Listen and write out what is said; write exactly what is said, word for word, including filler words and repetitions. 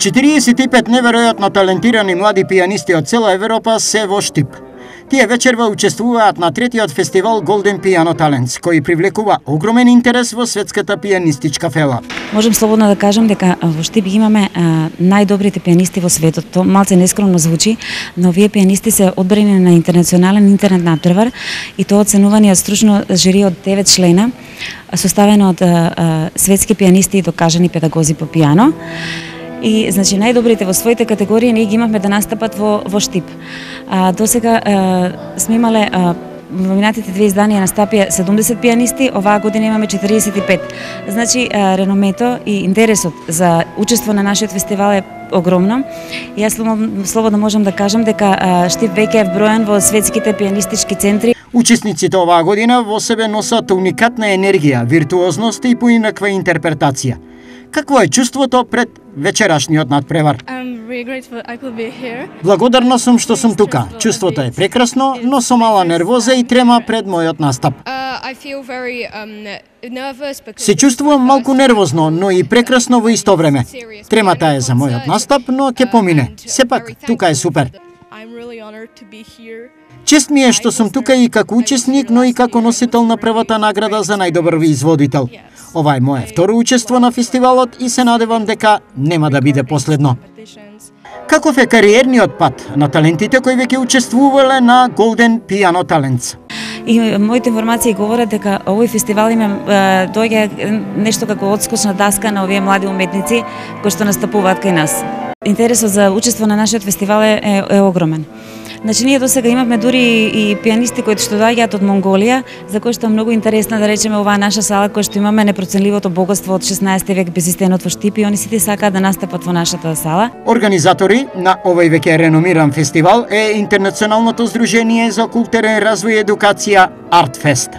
четириесет и пет неверојатно талентирани млади пијанисти од цела Европа се во Штип. Тие вечерва учествуваат на третиот фестивал Golden Piano Talents, кој привлекува огромен интерес во светската пијанистичка фела. Можем слободно да кажам дека во Штип имаме а, најдобрите пијанисти во светот. Тоа малце нескромно звучи, но овие пијанисти се одбрани на интернационален интернет натпревар и тоа оценувани од стручно жири од девет члена, составено од а, а, светски пијанисти и докажани педагози по пијано. И значи најдобрите во своите категории ние ги имавме да настапат во во Штип. А досега а, сме имале а, во минатите две изданија настапија седумдесет пијанисти, оваа година имаме четириесет и пет. Значи а, реномето и интересот за учество на нашиот фестивал е огромно. И јас слободно можам да кажам дека а, Штип веќе е вброен во светските пијанистички центри. Учесниците оваа година во себе носат уникатна енергија, виртуозност и поинаква интерпретација. Какво е чувството пред вечерашниот надпревар? Благодарна сум што сум тука. Чувството е прекрасно, но со мала нервоза и трема пред мојот настап. Се чувствувам малку нервозно, но и прекрасно во исто време. Тремата е за мојот настап, но ќе помине. Сепак, тука е супер. Чест ми е што сум тука и како учесник, но и како носител на првата награда за најдобар изводител. Ова е мое второ учество на фестивалот и се надевам дека нема да биде последно. Каков е кариерниот пат на талентите кои веќе учествувале на Golden Piano Talents? И моите информации говорат дека овој фестивал има доаѓа нешто како одскочна даска на овие млади уметници кои што настапуваат кај нас. Интересот за учество на нашиот фестивал е, е, е огромен. Значи, ние досега имавме дури и пијанисти кои што доаѓаат од Монголија, за кои што е многу интересна, да речеме, оваа наша сала, која што имаме непроценливото богатство од шеснаесети век безистенот во Штип, и они сите сакаат да настапат во нашата сала. Организатори на овој веќе реномиран фестивал е Интернационалното здружение за културен развој и едукација Артфест.